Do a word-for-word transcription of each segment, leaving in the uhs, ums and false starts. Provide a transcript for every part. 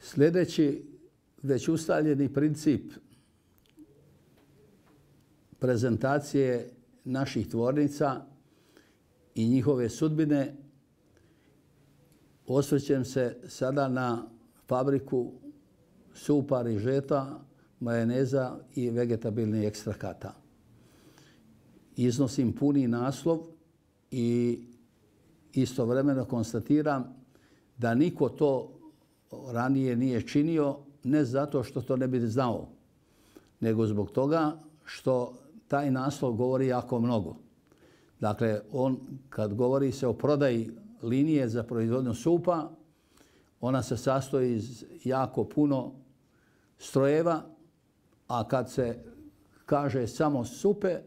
Sljedeći već ustaljeni princip prezentacije naših tvornica i njihove sudbine, osvrćem se sada na fabriku supa, rižeta, majoneza i vegetabilnih ekstrakata. Iznosim puni naslov i istovremeno konstatiram da niko to ranije nije činio, ne zato što to ne bi znao, nego zbog toga što taj naslov govori jako mnogo. Dakle, on kad govori se o prodaji linije za proizvodnju supa, ona se sastoji iz jako puno strojeva, a kad se kaže samo supe,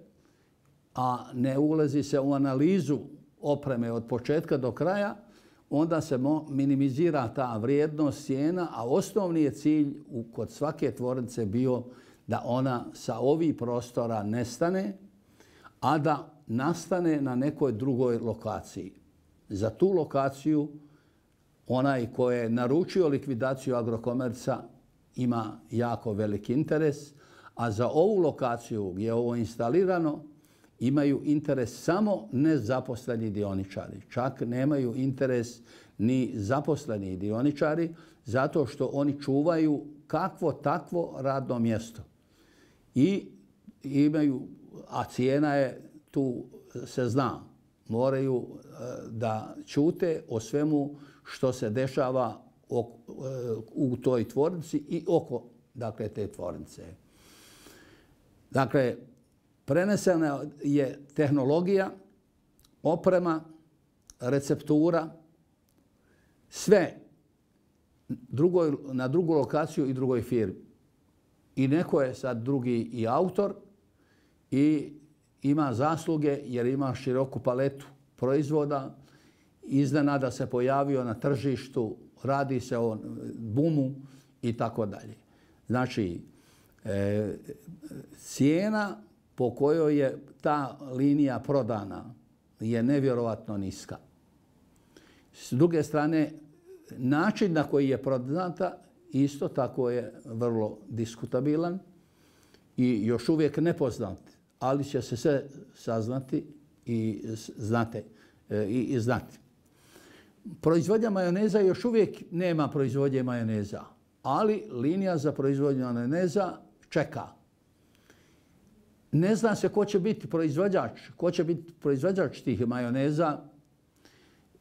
a ne ulazi se u analizu opreme od početka do kraja, onda se minimizira ta vrijednost cijena, a osnovni je cilj kod svake tvornice bio da ona sa ovih prostora nestane, a da nastane na nekoj drugoj lokaciji. Za tu lokaciju onaj ko je naručio likvidaciju Agrokomerca ima jako veliki interes, a za ovu lokaciju gdje je ovo instalirano imaju interes samo nezaposleni dioničari. Čak nemaju interes ni zaposleni dioničari zato što oni čuvaju kakvo takvo radno mjesto. I imaju, a cijena je tu se zna, moraju da ćute o svemu što se dešava u toj tvornici i oko dakle, te tvornice. Dakle, prenesena je tehnologija, oprema, receptura, sve drugoj, na drugu lokaciju i drugoj firmi. I neko je sad drugi i autor i ima zasluge jer ima široku paletu proizvoda. Iznenada se pojavio na tržištu, radi se o bumu i tako dalje. Znači, e, cijena po kojoj je ta linija prodana je nevjerovatno niska. S druge strane, način na koji je prodata isto tako je vrlo diskutabilan i još uvijek nepoznat, ali će se sve saznati i znate i, i znati. Proizvodnja majoneza još uvijek nema proizvodnje majoneza, ali linija za proizvodnju majoneza čeka. Ne zna se ko će biti proizvođač, ko će biti proizvođač tih majoneza.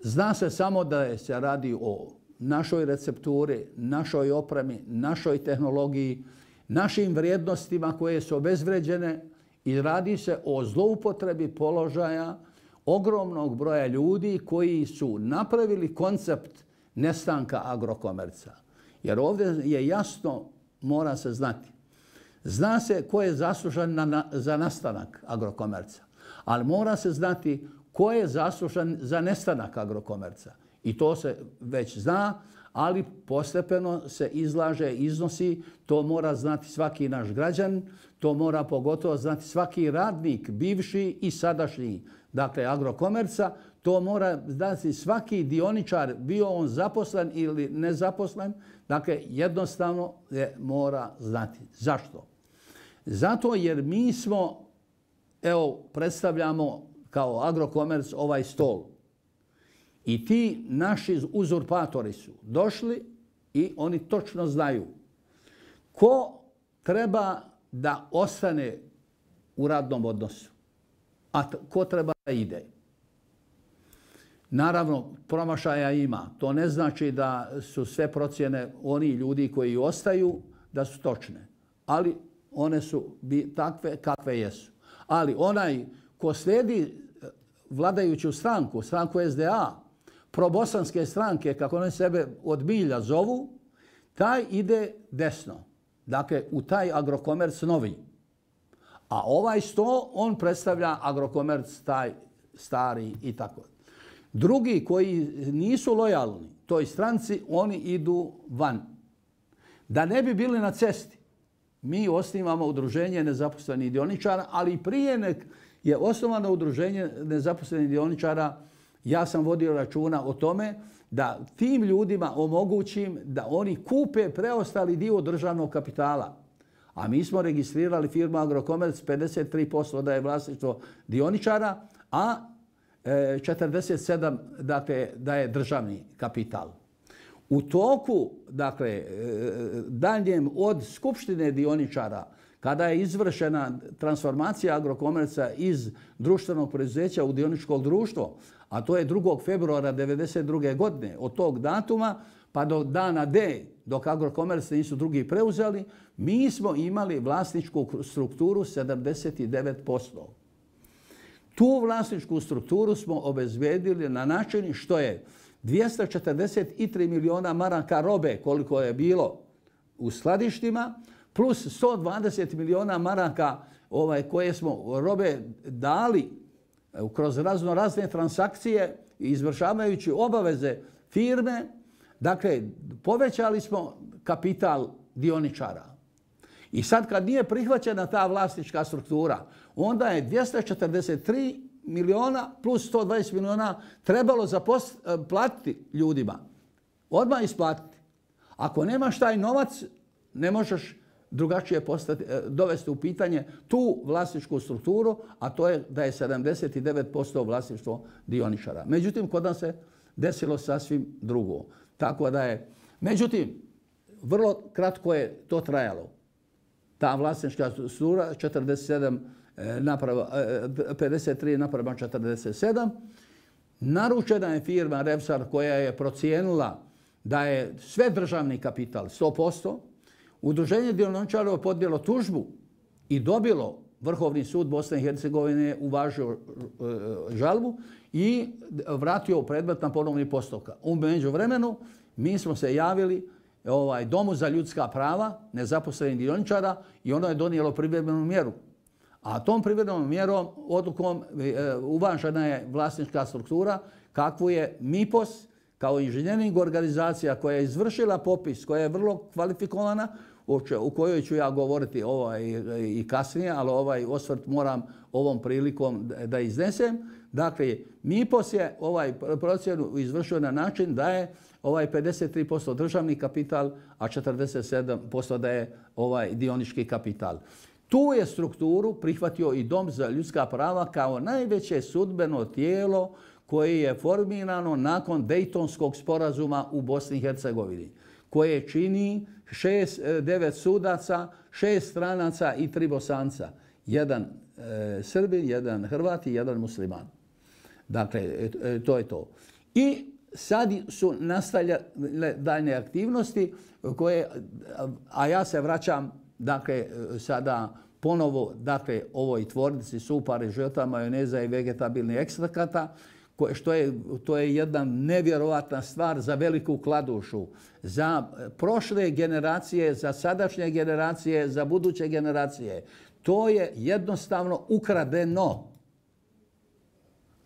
Zna se samo da se radi o našoj recepturi, našoj opremi, našoj tehnologiji, našim vrijednostima koje su obezvređene i radi se o zloupotrebi položaja ogromnog broja ljudi koji su napravili koncept nestanka Agrokomerca. Jer ovdje je jasno, mora se znati. Zna se ko je zaslužan na, na, za nastanak Agrokomerca, ali mora se znati ko je zaslužan za nestanak Agrokomerca. I to se već zna, ali postepeno se izlaže, iznosi. To mora znati svaki naš građan, to mora pogotovo znati svaki radnik, bivši i sadašnji, dakle Agrokomerca. To mora znati svaki dioničar, bio on zaposlen ili nezaposlen. Dakle, jednostavno je mora znati. Zašto? Zato jer mi smo, evo, predstavljamo kao Agrokomerc ovaj stol. I ti naši uzurpatori su došli i oni točno znaju ko treba da ostane u radnom odnosu, a ko treba da ide. Naravno, promašaja ima. To ne znači da su sve procjene oni ljudi koji ostaju da su točne. Ali one su takve kakve jesu. Ali onaj ko slijedi vladajuću stranku, stranku S D A, probosanske stranke, kako oni sebe od milja zovu, taj ide desno. Dakle, u taj Agrokomerc novi. A ovaj sto, on predstavlja Agrokomerc taj stari i tako. Drugi koji nisu lojalni toj stranci, oni idu van. Da ne bi bili na cesti, mi osnivamo udruženje nezaposlenih dioničara, ali prije nek je osnovano udruženje nezaposlenih dioničara, ja sam vodio računa o tome da tim ljudima omogućim da oni kupe preostali dio državnog kapitala. A mi smo registrirali firmu Agrokomerc, pedeset tri posto da je vlasništvo dioničara, a četrdeset sedam posto dakle, da je državni kapital. U toku, dakle, daljem od skupštine dioničara, kada je izvršena transformacija Agrokomerca iz društvenog preduzeća u dioničko društvo, a to je drugog februara devedeset druge godine, od tog datuma pa do dana D, dok Agrokomerc nisu drugi preuzeli, mi smo imali vlasničku strukturu sedamdeset devet posto. Tu vlasničku strukturu smo obezbedili na način što je dvjesto četrdeset tri miliona maraka robe, koliko je bilo u skladištima, plus sto dvadeset miliona maraka ovaj, koje smo robe dali kroz razno razne transakcije izvršavajući obaveze firme. Dakle, povećali smo kapital dioničara. I sad kad nije prihvaćena ta vlasnička struktura, onda je dvjesto četrdeset tri miliona plus sto dvadeset miliona trebalo zaplatiti ljudima. Odmah isplatiti. Ako nemaš taj novac, ne možeš drugačije postati, dovesti u pitanje tu vlasničku strukturu, a to je da je sedamdeset devet posto vlasništvo dioničara. Međutim, kod nas se desilo sasvim drugo. Tako da je, međutim, vrlo kratko je to trajalo. Ta vlasnička struktura četrdeset sedam naprava, pedeset tri naprava četrdeset sedam. Naručena je firma Revsar koja je procijenila da je sve državni kapital sto posto. Udruženje dioničara je podnijelo tužbu i dobilo Vrhovni sud Bosne i Hercegovine, uvažio žalbu i vratio predmet na ponovni postupak. U međuvremenu mi smo se javili ovaj, Domu za ljudska prava nezaposlenih dioničara i ono je donijelo privremenu mjeru. A tom privremenom mjerom, odlukom, uvažena je vlasnička struktura kakvu je MIPOS kao inženjering organizacija koja je izvršila popis, koja je vrlo kvalifikovana, u kojoj ću ja govoriti ovaj, i kasnije, ali ovaj osvrt moram ovom prilikom da iznesem. Dakle, MIPOS je ovaj procjenu izvršio na način da je ovaj pedeset tri posto državni kapital, a četrdeset sedam posto da je ovaj dionički kapital. Tu je strukturu prihvatio i Dom za ljudska prava kao najveće sudbeno tijelo koje je formirano nakon Dejtonskog sporazuma u Bosni i Hercegovini, koje čini šest, devet sudaca, šest stranaca i tri Bosanca. Jedan e, Srbin, jedan Hrvat i jedan musliman. Dakle, e, to je to. I sad su nastavljale daljne aktivnosti koje, a ja se vraćam, dakle, sada ponovo, dakle, ovoj tvornici supa, režota, majoneza i vegetabilnih ekstrakata, što je, to je jedna nevjerovatna stvar za Veliku Kladušu, za prošle generacije, za sadašnje generacije, za buduće generacije. To je jednostavno ukradeno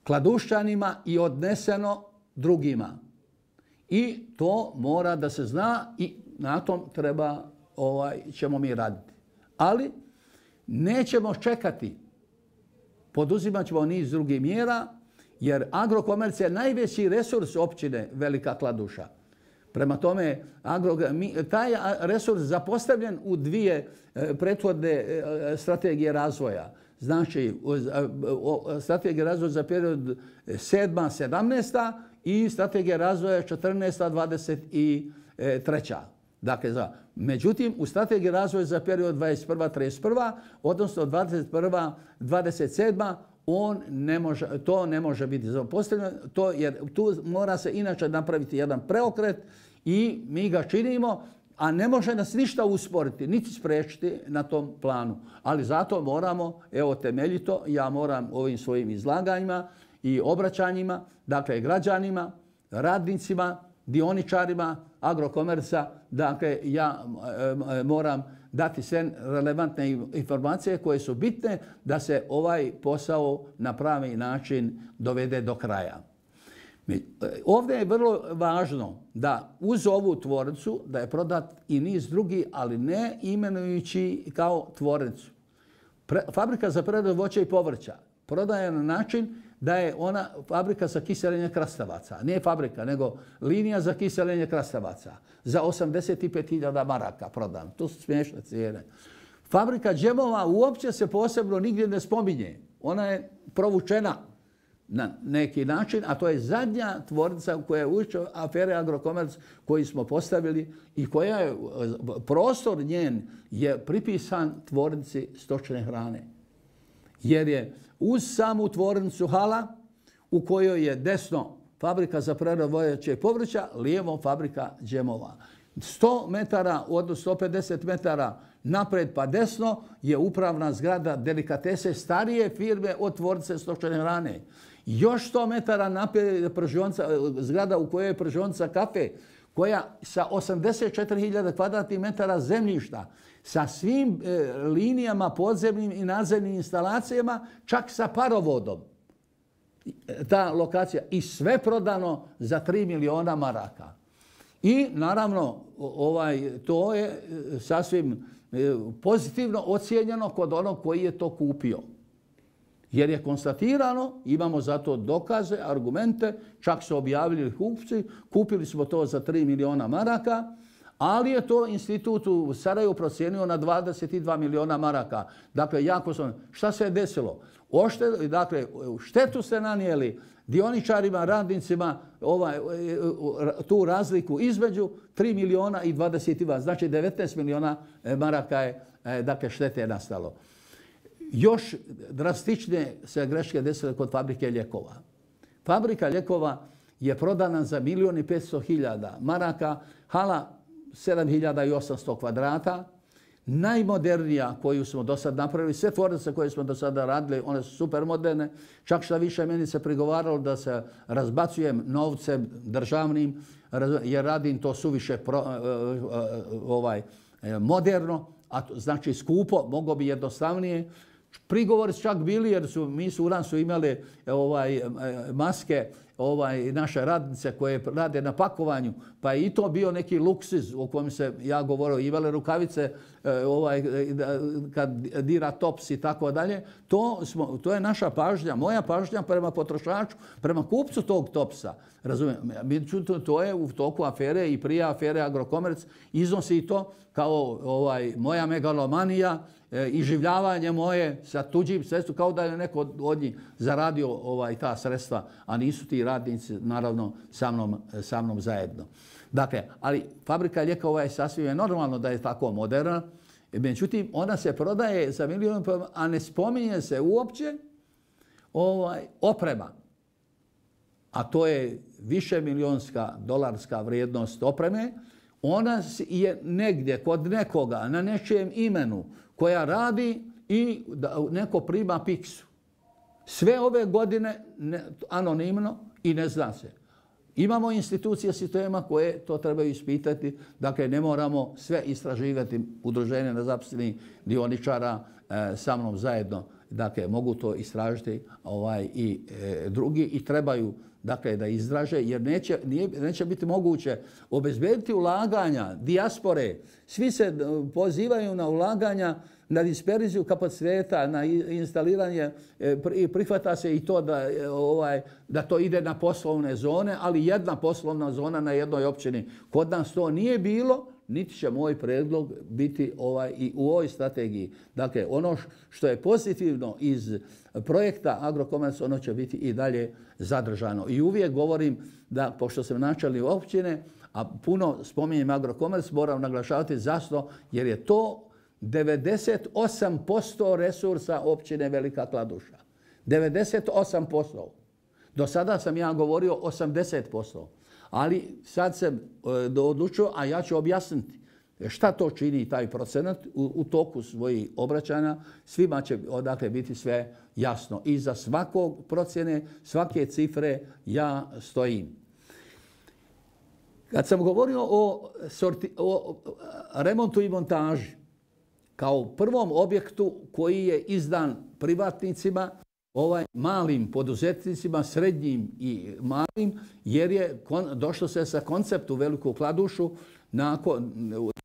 Kladušćanima i odneseno drugima. I to mora da se zna i na tom treba, ovaj, ćemo mi raditi. Ali nećemo čekati. Poduzimat ćemo niz drugih mjera, jer Agrokomerc je najveći resurs općine Velika Kladuša. Prema tome, agro, taj resurs zapostavljen u dvije prethodne strategije razvoja. Znači, strategija razvoja za period sedma sedamnaesta i strategija razvoja četrnaesta dvadeset treća. Dakle, za, međutim, u strategiji razvoja za period dvadeset prva trideset prva, odnosno dvadeset prva dvadeset sedma, on ne može, to ne može biti zapostavljeno, to, jer tu mora se inače napraviti jedan preokret i mi ga činimo, a ne može nas ništa usporiti, niti spriječiti na tom planu. Ali zato moramo, evo temeljito, ja moram ovim svojim izlaganjima i obraćanjima, dakle građanima, radnicima, dioničarima Agrokomerca, dakle ja e, moram dati sve relevantne informacije koje su bitne da se ovaj posao na pravi način dovede do kraja. Ovdje je vrlo važno da uz ovu tvornicu da je prodat i niz drugi, ali ne imenujući kao tvornicu. Pre, fabrika za preradu voća i povrća prodaje na način da je ona fabrika za kiseljenje krastavaca. Nije fabrika, nego linija za kiseljenje krastavaca. Za osamdeset pet hiljada maraka prodan. To su smiješne cijene. Fabrika džemova uopće se posebno nigdje ne spominje. Ona je provučena na neki način, a to je zadnja tvornica koja je ušla afere Agrokomerc koji smo postavili i koja je, prostor njen je pripisan tvornici stočne hrane. Jer je uz samu tvornicu hala u kojoj je desno fabrika za preradu voća i povrća, lijevo fabrika džemova. sto metara, odnosno sto pedeset metara napred pa desno je upravna zgrada delikatese starije firme od tvornice stočne hrane. Još sto metara naprijed je zgrada u kojoj je pržionica kafe, koja sa osamdeset četiri hiljade kvadratnih metara zemljišta, sa svim e, linijama podzemnim i nadzemnim instalacijama, čak sa parovodom. Ta lokacija. I sve prodano za tri miliona maraka. I naravno ovaj, to je sasvim e, pozitivno ocijenjeno kod onog koji je to kupio. Jer je konstatirano, imamo za to dokaze, argumente, čak su objavili kupci, kupili smo to za tri miliona maraka, ali je to institut u Sarajevu procijenio na dvadeset dva miliona maraka. Dakle, jako sam, šta se je desilo? Ošte, dakle, štetu ste nanijeli dioničarima, radnicima, ovaj, tu razliku između tri miliona i dvadeset dva. Znači, devetnaest miliona maraka je dakle, štete je nastalo. Još drastičnije se greške desile kod fabrike lijekova. Fabrika lijekova je prodana za milijon i petsto hiljada maraka, hala sedam hiljada i osamsto kvadrata, najmodernija koju smo do sad napravili. Sve tvornice koje smo do sada radili, one su super moderne. Čak što više meni se prigovaralo da se razbacujem novcem državnim, jer radim to suviše pro, ovaj, moderno, a to znači skupo, mogo bi jednostavnije. Prigovori su čak bili jer su, mi su u nas su imali ovaj, maske, ovaj, naše radnice koje rade na pakovanju, pa je i to bio neki luksuz o kojem se ja govorio, imale rukavice ovaj, kad dira tops i tako dalje. To, smo, to je naša pažnja, moja pažnja prema potrošaču, prema kupcu tog topsa. Razumijem, međutim, to je u toku afere i prije afere Agrokomerc iznosi i to kao ovaj, moja megalomanija, i življavanje moje sa tuđim sredstvom, kao da je neko od njih zaradio ovaj, ta sredstva, a nisu ti radnici, naravno, sa mnom, sa mnom zajedno. Dakle, ali fabrika lijekova je sasvim je normalno da je tako moderna, međutim, ona se prodaje za milijon, a ne spominje se uopće ovaj, oprema. A to je više milionska dolarska vrijednost opreme. Ona je negdje kod nekoga na nečijem imenu koja radi i neko prima piksu. Sve ove godine ne, anonimno i ne zna se. Imamo institucije sistema koje to trebaju ispitati. Dakle, ne moramo sve istraživati udruženje nezaposlenih dioničara e, sa mnom zajedno. Dakle, mogu to istražiti ovaj, i e, drugi i trebaju dakle, da izraže, jer neće, nije, neće biti moguće obezbediti ulaganja, dijaspore. Svi se pozivaju na ulaganja, na disperziju kapaciteta, na instaliranje i prihvata se i to da, ovaj, da to ide na poslovne zone, ali jedna poslovna zona na jednoj općini. Kod nas to nije bilo, niti će moj predlog biti ovaj, i u ovoj strategiji. Dakle, ono što je pozitivno iz projekta Agrokomerc, ono će biti i dalje zadržano. I uvijek govorim da, pošto sam načelnik općine, a puno spominjem Agrokomerc, moram naglašavati zašto, jer je to devedeset osam posto resursa općine Velika Kladuša. devedeset osam posto. Do sada sam ja govorio osamdeset posto. Ali sad sam odlučio, a ja ću objasniti šta to čini taj procenat u, u toku svojih obraćanja. Svima će odakle biti sve jasno. I za svakog procjene, svake cifre ja stojim. Kad sam govorio o, sorti, o remontu i montaži, kao prvom objektu koji je izdan privatnicima, ovaj malim poduzetnicima, srednjim i malim, jer je kon, došlo se sa konceptu Veliku Kladušu nakon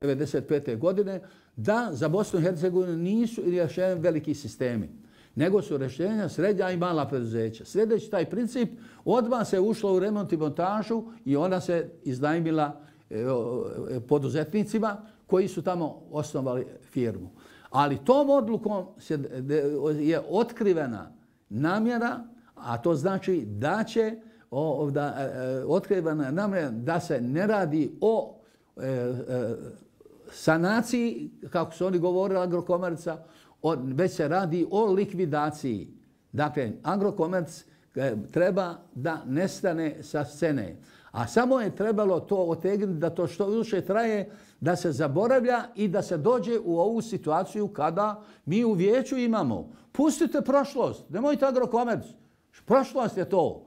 devedeset pete godine da za Bosnu i Hercegovinu nisu rješeni veliki sistemi. nego su rješenja srednja i mala preduzeća. Sljedeći taj princip, odmah se ušlo u remont i montažu i ona se iznajmila poduzetnicima koji su tamo osnovali firmu. Ali tom odlukom je otkrivena namjera, a to znači da će da, otkrivena namjera da se ne radi o sanaciji, kako su oni govorili, Agrokomerca, već se radi o likvidaciji. Dakle, Agrokomerc treba da nestane sa scene. A samo je trebalo to otegnuti da to što više traje, da se zaboravlja i da se dođe u ovu situaciju kada mi u vijeću imamo. Pustite prošlost, nemojte Agrokomerc. Prošlost je to.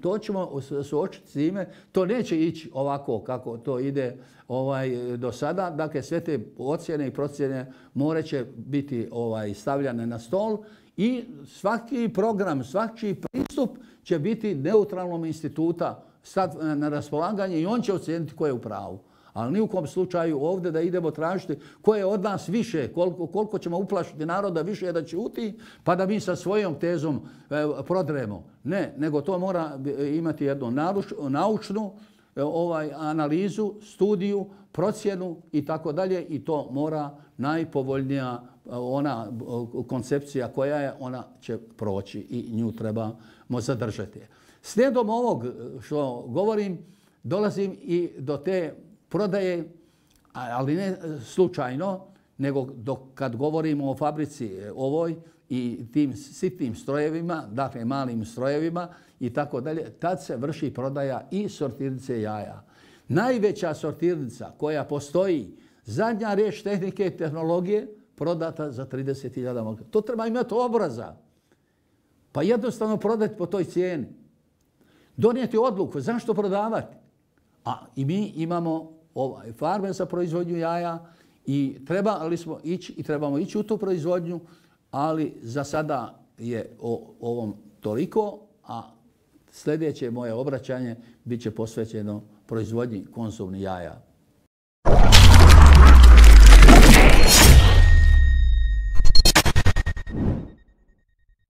To ćemo suočiti s time. To neće ići ovako kako to ide ovaj, do sada. Dakle, sve te ocjene i procjene morat će biti ovaj, stavljane na stol i svaki program, svaki pristup će biti neutralnom instituta sad na raspolaganje i on će ocijeniti ko je u pravu. Ali ni u kom slučaju ovdje da idemo tražiti ko je od nas više, koliko, koliko ćemo uplašiti naroda više da ćuti, pa da mi sa svojom tezom e, prodremo. Ne, nego to mora imati jednu naučnu ovaj, analizu, studiju, procjenu i tako dalje i to mora najpovoljnija ona koncepcija koja je, ona će proći i nju trebamo zadržati. Slijedom ovog što govorim, dolazim i do te prodaje, ali ne slučajno, nego dok kad govorimo o fabrici ovoj i tim sitnim strojevima, dakle malim strojevima i tako dalje, tad se vrši prodaja i sortirnice jaja. Najveća sortirnica koja postoji, zadnja riječ tehnike i tehnologije, prodata za trideset hiljada maraka. To treba imati obraza. Pa jednostavno prodati po toj cijeni. Donijeti odluku zašto prodavati. A i mi imamo ovaj, farme za proizvodnju jaja i trebali smo ići i trebamo ići u tu proizvodnju, ali za sada je o ovom toliko, a sljedeće moje obraćanje bit će posvećeno proizvodnji konzumnih jaja.